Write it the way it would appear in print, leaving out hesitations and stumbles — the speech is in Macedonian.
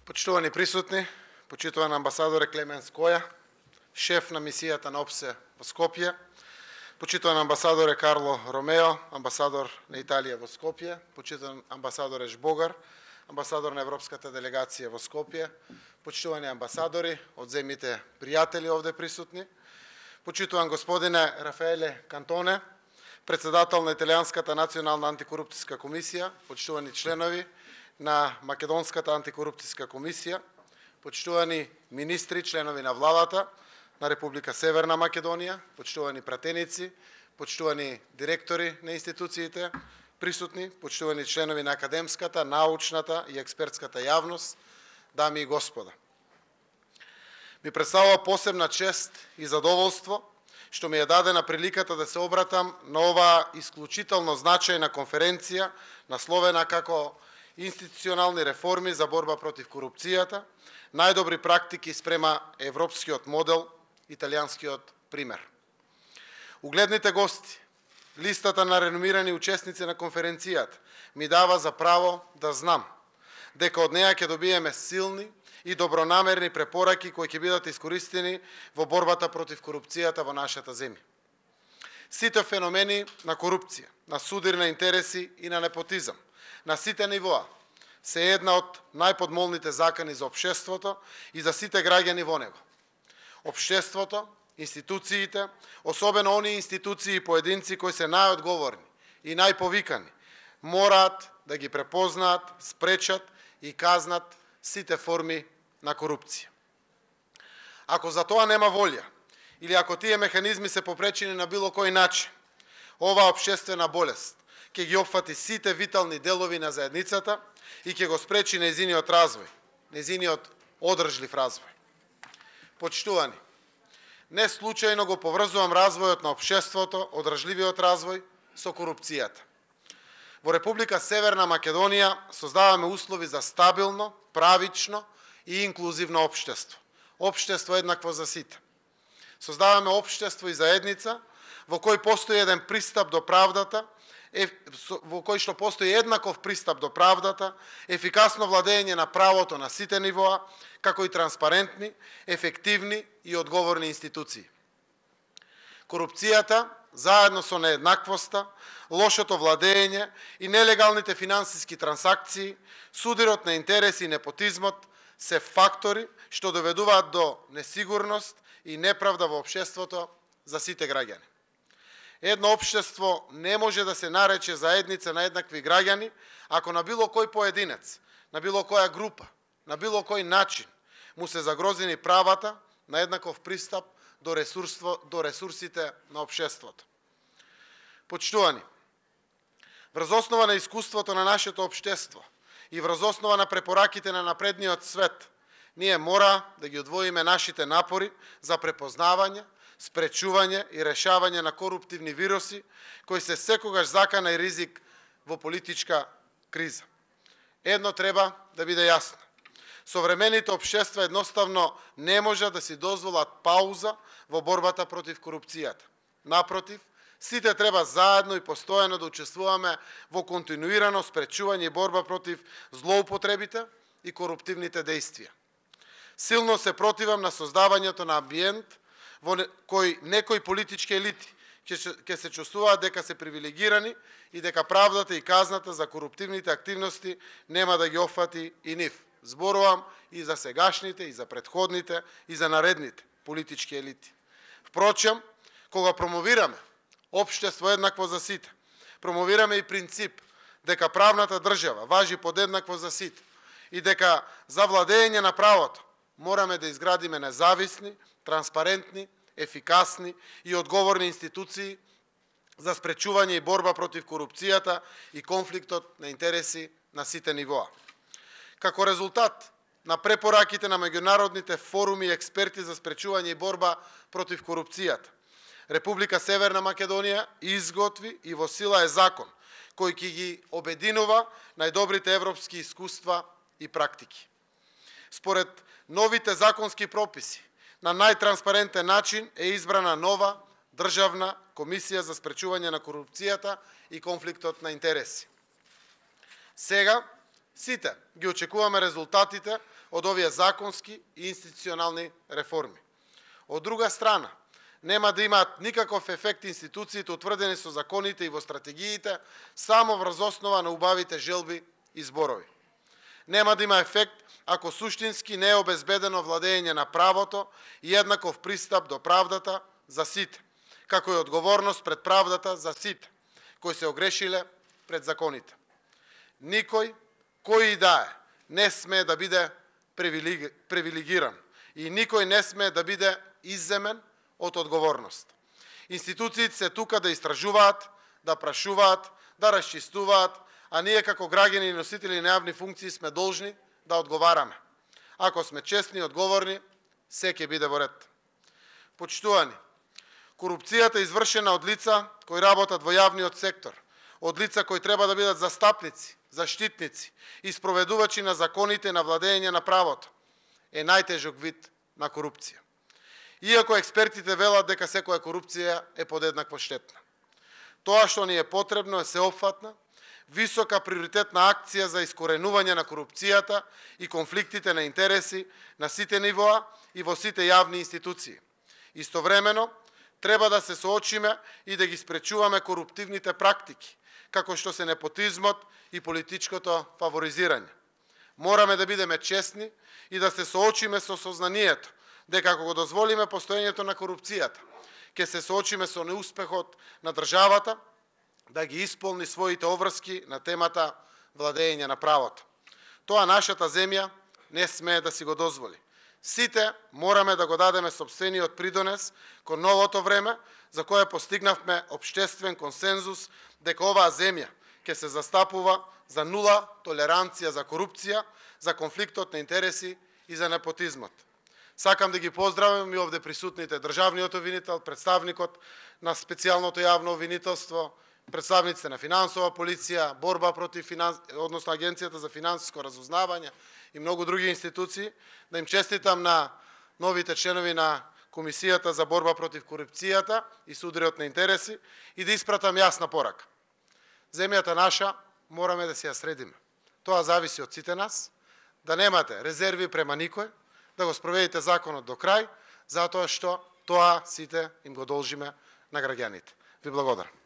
Почитувани присутни, почитуван амбасадоре Клемен Скоја, шеф на мисијата на ОПСЕ во Скопје, почитуван амбасадоре Карло Ромео, амбасадор на Италија во Скопје, почитуван амбасадоре Жбогар, амбасадор на Европската делегација во Скопје, почитувани амбасадори од земјите пријатели овде присутни, почитуван господине Рафаеле Кантоне, председател на Италијанската национална антикорупцијска комисија, почитувани членови на Македонската антикорупцијска комисија, почитувани министри, членови на владата на Република Северна Македонија, почитувани пратеници, почитувани директори на институциите присутни, почитувани членови на академската, научната и експертската јавност, дами и господа. Ми представува посебна чест и задоволство што ми е дадена приликата да се обратам на оваа исклучително значајна конференција насловена како институционални реформи за борба против корупцијата, најдобри практики спрема европскиот модел, италијанскиот пример. Угледните гости, листата на реномирани учесници на конференцијата ми дава за право да знам дека од неа ќе добиеме силни и добронамерни препораки кои ќе бидат искористени во борбата против корупцијата во нашата земја. Сите феномени на корупција, на судир на интереси и на непотизам, на сите нивоа, се една од најподмолните закани за општеството и за сите граѓани во него. Општеството, институциите, особено оние институции и поединци кои се најодговорни и најповикани, мораат да ги препознаат, спречат и казнат сите форми на корупција. Ако за тоа нема волја, или ако тие механизми се попречени на било кој начин, оваа општествена болест ќе ги опфати сите витални делови на заедницата и ќе го спречи нејзиниот развој, нејзиниот одржлив развој. Почитувани, не случајно го поврзувам развојот на општеството, одржливиот развој, со корупцијата. Во Република Северна Македонија создаваме услови за стабилно, правично и инклузивно општество. Општество еднакво за сите. Создаваме општество и заедница во кој постои еден пристап до правдата, во кој што постои еднаков пристап до правдата, ефикасно владење на правото на сите нивоа, како и транспарентни, ефективни и одговорни институции. Корупцијата, заедно со нееднаквоста, лошото владење и нелегалните финансиски трансакции, судирот на интереси и непотизмот се фактори што доведуваат до несигурност и неправда во општеството за сите граѓани. Едно општество не може да се нарече заедница на еднакви граѓани ако на било кој поединец, на било која група, на било кој начин му се загрозени правата на еднаков пристап до ресурсите на општеството. Почитувани, врз основа на искуството на нашето општество и врз основа на препораките на напредниот свет, ние мора да ги одвоиме нашите напори за препознавање, спречување и решавање на коруптивни вируси кои се секогаш закана и ризик во политичка криза. Едно треба да биде јасно. Современите општества едноставно не можат да си дозволат пауза во борбата против корупцијата. Напротив, сите треба заедно и постојано да учествуваме во континуирано спречување и борба против злоупотребите и коруптивните дејствија. Силно се противам на создавањето на амбиент во кој некои политички елити ќе се чувствуваат дека се привилегирани и дека правдата и казната за коруптивните активности нема да ги опфати и нив. Зборувам и за сегашните, и за претходните, и за наредните политички елити. Впрочем, кога промовираме општество еднакво за сите, промовираме и принцип дека правната држава важи подеднакво за сите и дека за владење на правото мораме да изградиме независни, транспарентни, ефикасни и одговорни институции за спречување и борба против корупцијата и конфликтот на интереси на сите нивоа. Како резултат на препораките на меѓународните форуми и експерти за спречување и борба против корупцијата, Република Северна Македонија изготви и во сила е закон кој ќе ги обединува најдобрите европски искуства и практики. Според новите законски прописи, на најтранспарентен начин е избрана нова државна комисија за спречување на корупцијата и конфликтот на интереси. Сега Сите ги очекуваме резултатите од овие законски и институционални реформи. Од друга страна, нема да имаат никаков ефект институциите утврдени со законите и во стратегиите само врз основа на убавите желби и зборови. Нема да има ефект ако суштински не е обезбедено владење на правото и еднаков пристап до правдата за сите, како и одговорност пред правдата за сите, кои се огрешиле пред законите. Никој, кој и да е, не смее да биде привилегиран и никој не смее да биде изземен од одговорност. Институциите се тука да истражуваат, да прашуваат, да расчистуваат, а ние како граѓани и носители на јавни функции сме должни да одговараме. Ако сме честни и одговорни, се ќе биде во ред. Почитувани, корупцијата е извршена од лица кои работат во јавниот сектор, од лица кои треба да бидат застапници, заштитници и спроведувачи на законите на владење на правото, е најтежок вид на корупција. Иако експертите велат дека секоја корупција е подеднакво штетна. Тоа што ни е потребно е сеопфатна, висока приоритетна акција за искоренување на корупцијата и конфликтите на интереси на сите нивоа и во сите јавни институции. Истовремено, треба да се соочиме и да ги спречуваме коруптивните практики, како што се непотизмот и политичкото фаворизирање. Мораме да бидеме честни и да се соочиме со сознанието дека ако го дозволиме постоењето на корупцијата, ќе се соочиме со неуспехот на државата да ги исполни своите обврски на темата владење на правото. Тоа нашата земја не смее да си го дозволи. Сите мораме да го дадеме сопствениот придонес кон новото време за кое постигнавме општествен консензус дека оваа земја ќе се застапува за нула толеранција за корупција, за конфликтот на интереси и за непотизмот. Сакам да ги поздравам и овде присутните државниот обвинител, представникот на специјалното јавно обвинителство, представниците на финансова полиција, борба против односно Агенцијата за финансиско разузнавање и многу други институции, да им честитам на новите членови на Комисијата за борба против корупцијата и судрот на интереси и да испратам јасна порака. Земјата наша мораме да се ја средиме. Тоа зависи од сите нас, да немате резерви према никој, да го спроведите законот до крај, затоа што тоа сите им го должиме на граѓаните. Ви благодарам.